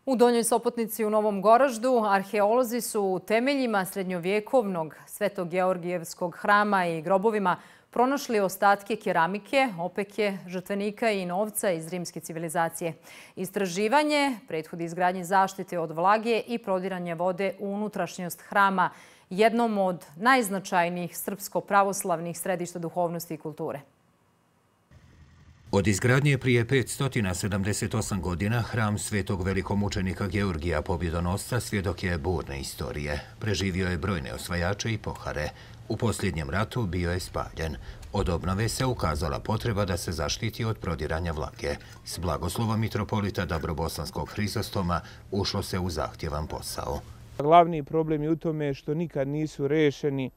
U Donjoj Sopotnici u Novom Goraždu arheolozi su u temeljima srednjovjekovnog Sveto-Georgijevskog hrama i grobovima pronašli ostatke keramike, opeke, žrtvenika i novca iz rimske civilizacije. Istraživanje prethodi izgradnji zaštite od vlage i prodiranje vode u unutrašnjost hrama, jednom od najznačajnijih srpsko-pravoslavnih središta duhovnosti i kulture. Od izgradnje prije 578 godina hram svetog velikomučenika Georgija pobjedonosca svjedok je burne istorije. Preživio je brojne osvajače i pohare. U posljednjem ratu bio je spaljen. Od obnove se ukazala potreba da se zaštiti od prodiranja vlage. S blagoslovom mitropolita Dabrobosanskog Hrizostoma ušlo se u zahtjevan posao. Glavni problem je u tome što nikad nisu rešeni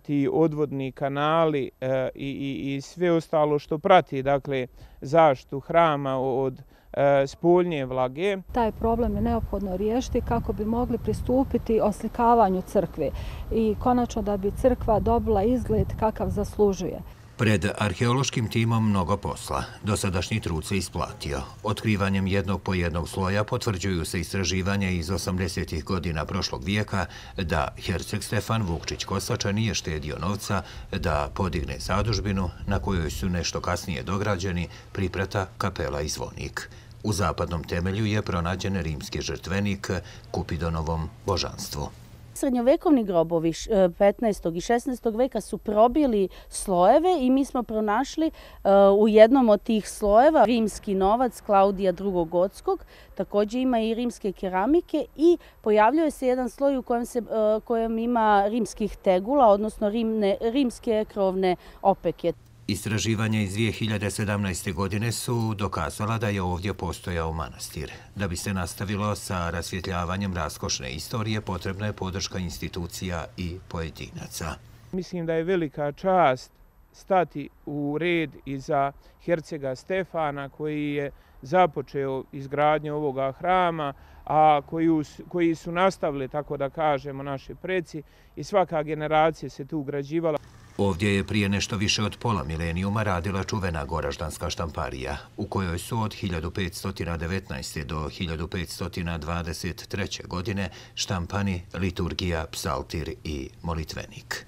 ti odvodni kanali i sve ostalo što prati, dakle, zaštitu hrama od spoljnje vlage. Taj problem je neophodno riješiti kako bi mogli pristupiti oslikavanju crkve i konačno da bi crkva dobila izgled kakav zaslužuje. Pred arheološkim timom mnogo posla. Dosadašnji trud se isplatio. Otkrivanjem jednog po jednog sloja potvrđuju se istraživanja iz 80. godina prošlog vijeka da herceg Stefan Vukčić-Kosača nije štedio novca da podigne zadužbinu na kojoj su nešto kasnije dograđeni priprata, kapela i zvonik. U zapadnom temelju je pronađen rimski žrtvenik Kupidonovom božanstvu. Srednjovekovni grobovi 15. i 16. veka su probili slojeve i mi smo pronašli u jednom od tih slojeva rimski novac Klaudija II. Gotskog. Također ima i rimske keramike i pojavljuje se jedan sloj u kojem ima rimskih tegula, odnosno rimske krovne opeke. Istraživanja iz 2017. godine su dokazala da je ovdje postojao manastir. Da bi se nastavilo sa rasvjetljavanjem raskošne istorije, potrebna je podrška institucija i pojedinaca. Mislim da je velika čast stati u red iza hercega Stefana koji je započeo izgradnju ovoga hrama, a koji su nastavili, tako da kažemo, naši preci i svaka generacija se tu ugrađivala. Ovdje je prije nešto više od pola milenijuma radila čuvena goraždanska štamparija, u kojoj su od 1519. do 1523. godine štampani liturgija, psaltir i molitvenik.